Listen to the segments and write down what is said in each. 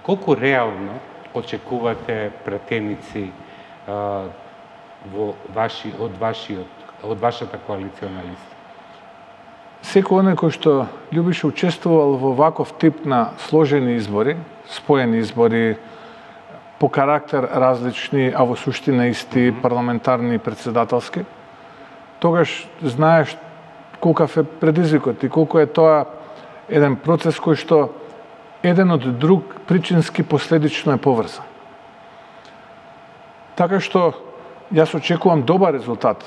Колку реално очекувате пратеници од вашата коалициона листа? Секој оној кој што љубише учествувал во ваков тип на сложени избори, споени избори, по карактер различни, а во суштина исти, парламентарни и председателски, тогаш знаеш колкав е предизвикот и колку е тоа еден процес кој што еден од друг причински последично е поврзан. Така што јас очекувам добар резултат,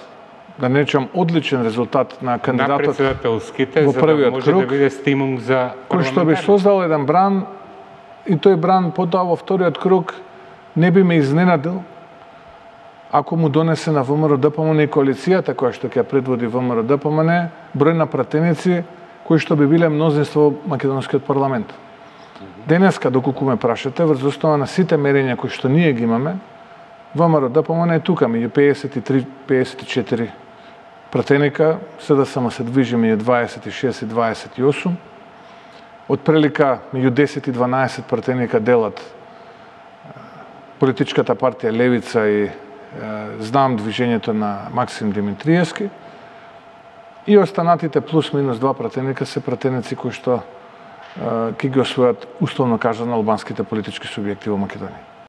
да не речам одличен резултат на кандидатот на председателските, во за првиот да може круг, да биде стимул за кој што би создал еден бран и тој бран потоа во вториот круг не би ме изненадил ако му донесе на ВМРО-ДПМН и коалицијата која што ќе предводи ВМРО-ДПМН број на пратеници кои што би биле мнозинство во македонскиот парламент. Денеска, доколку ме прашате, врз основа на сите мерења кои што ние ги имаме, ВМРО-ДПМН е тука меѓу 53-54 пратеника, СДСМ се движи меѓу 26 и 28. Од прилика меѓу 10 и 12 пратеника делат политичката партија Левица и знам движењето на Максим Димитриевски. И останатите плюс минус 2 пратеника се пратеници кои што ќе ги освојат условно кажано албанските политички субјекти во Македонија.